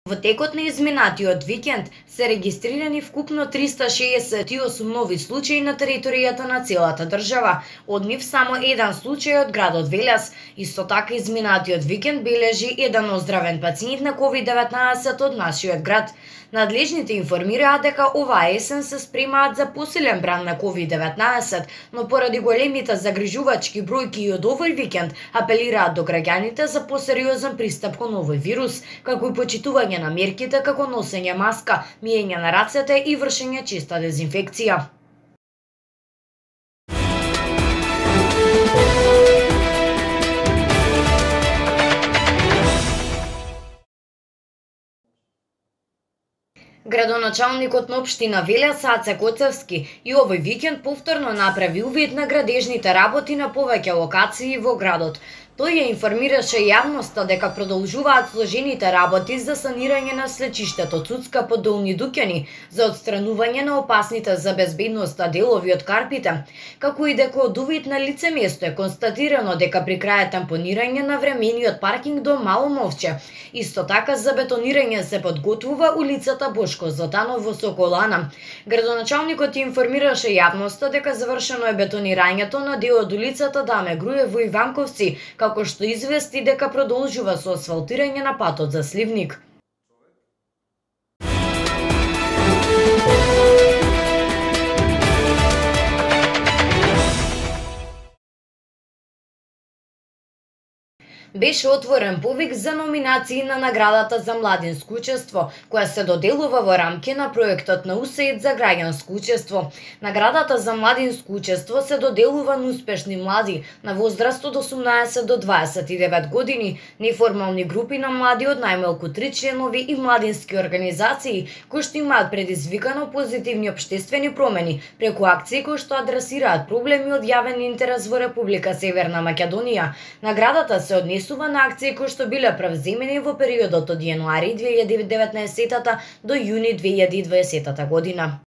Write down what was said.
Во текот на изминатиот викенд се регистрирани вкупно 368 нови случаи на територијата на целата држава, од нив само еден случај од градот Велес. Исто така изминатиот викенд бележи еден оздравен пациент на COVID-19 од нашиот град. Надлежните информираат дека оваа есен се спремаат за посилен бран на COVID-19, но поради големите загрижувачки бројки и од овој викенд апелираат до граѓаните за посериозен пристап кон овој вирус, како и почитување на мерките како носење маска, миење на рацете и вршење честа дезинфекција. Градоначалникот на општина Велес Аце Коцевски и овој викенд повторно направи увид на градежните работи на повеќе локации во градот. Тој ја информираше јавноста дека продолжуваат сложените работи за санирање на слечиштето Цуцка по Долни Дукјани, за отстранување на опасните за безбедноста делови од карпите, како и дека од увид на лице место е констатирано дека при крај тампонирање на времениот паркинг до Мало Мовче. Исто така за бетонирање се подготвува улицата Бошко Златанов во Соколана. Градоначалникот информираше јавноста дека завршено е бетонирањето на дел од улицата Даме Груев во Иванковци, како што извести дека продолжува со асфалтирање на патот за Сливник. Беше отворен повик за номинации на наградата за младинско учество, која се доделува во рамки на проектот на УСАИД за граѓанско учество. Наградата за младинско учество се доделува на успешни млади на возраст од 18 до 29 години, неформални групи на млади од најмалку 3 членови и младински организации кои што имаат предизвикано позитивни општествени промени преку акции кои што адресираат проблеми од јавен интерес во Република Северна Македонија. Наградата се однесува на акции кои што биле превземени во периодот од јануари 2019 до јуни 2020 година.